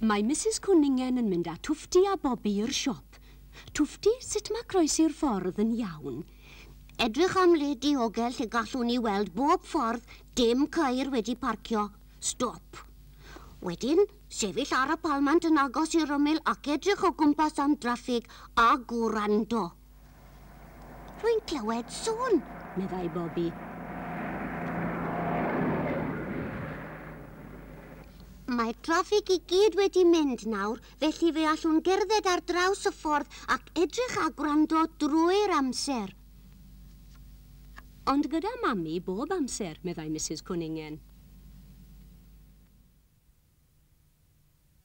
Mae Misus Cwningen yn mynd â Twffti a Bobi i'r siop. Twffti, sut mae croesi'r ffordd yn iawn? Edrych am le diogel lle gallwn ni weld bob ffordd, dim ceir wedi parcio. Stop. Wedyn, sefyll ar y palmant yn agos i'r ymyl ac edrych o gwmpas am draffig a gwrando. Rwy'n clywed sŵn, meddai Bobi. Mae'r traffig i gyd wedi mynd nawr, felly fe allwn gerdded ar draws y ffordd ac edrych a gwrando drwy'r amser. Ond gyda Mami bob amser, meddai Misus Cwningen.